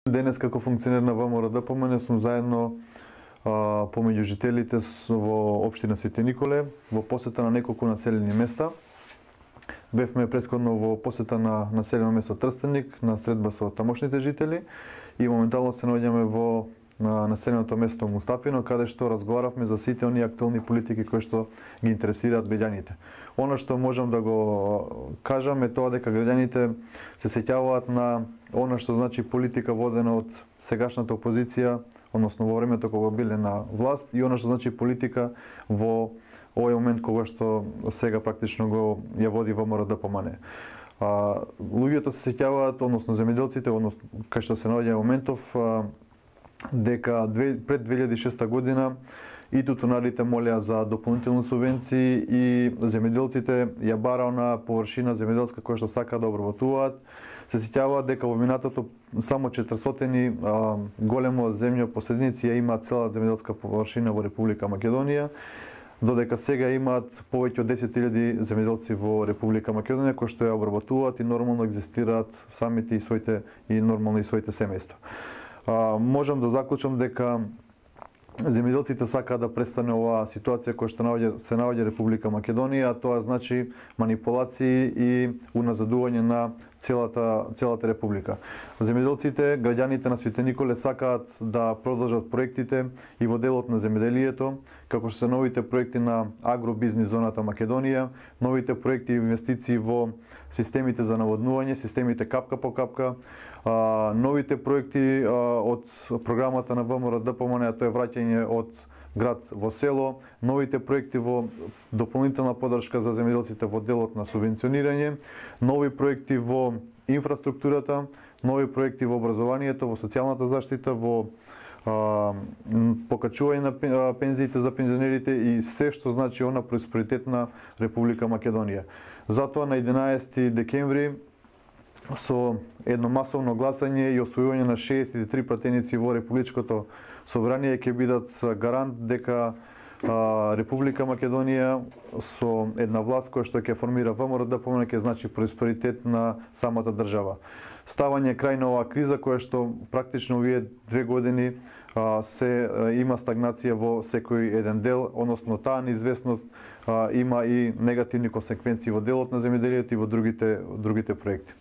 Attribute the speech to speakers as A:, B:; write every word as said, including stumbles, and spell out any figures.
A: Денес како функционер на ВМРО-ДПМН сум заедно а, помеѓу жителите во општина Свети Николе во посета на неколку населени места. Бевме претходно во посета на населено место Трстеник на средба со тамошните жители и моментално се наоѓаме во на населеното место Мустафино, каде што разговаравме за сите оние актуелни политики кои што ги интересираат граѓаните. Она што можам да го кажам е тоа дека граѓаните се сеќаваат на она што значи политика водена од сегашната опозиција, односно во времето кога биле на власт, и она што значи политика во овој момент кога што сега практично го ја води ВМРО-ДПМН. А, луѓето се сеќаваат, односно земјоделците, односно кај што се наоѓа моментов, а, дека пред две илјади и шеста година и тутунарите молеа за дополнителни субвенции и земјоделците ја барао на површина земјоделска која што сака да обработуваат. Се сеќаваат дека во минатото само четиристотини а, големо земјопоседници ја имаат цела земјоделска површина во Република Македонија, додека сега имаат повеќе од десет илјади земјоделци во Република Македонија кои што ја обработуваат и нормално екзистираат самите и своите и нормално и своите семејства. А, можам да заклучам дека земјоделците сакаат да престане оваа ситуација која што наоѓа, се наоѓа Република Македонија, а тоа значи манипулации и уназадување на целата целата република. Земјоделците, граѓаните на Свети Николе сакаат да продолжат проектите и во делот на земјоделието, како што се новите проекти на агробизнис зоната Македонија, новите проекти и инвестиции во системите за наводнување, системите капка по капка, а, новите проекти а, од програмата на ВМРО-ДПМН, тоа е враќање од град во село, новите проекти во дополнителна подршка за земјоделците во делот на субвенционирање, нови проекти во инфраструктурата, нови проекти во образованието, во социјалната заштита, во а, покачување на пензиите за пензионерите и се што значи она просперитетна Република Македонија. Затоа на единаесети декември со едно масовно гласање и освојување на шеесет и три пратеници во Републичкото собрание ќе бидат гарант дека а, Република Македонија со една власт која што ќе формира ВМРО-ДПМН ќе значи просперитет на самата држава. Ставање крај на оваа криза која што практично овие две години а, се а, има стагнација во секој еден дел, односно таа неизвестност а, има и негативни консеквенции во делот на земјоделието и во другите другите проекти.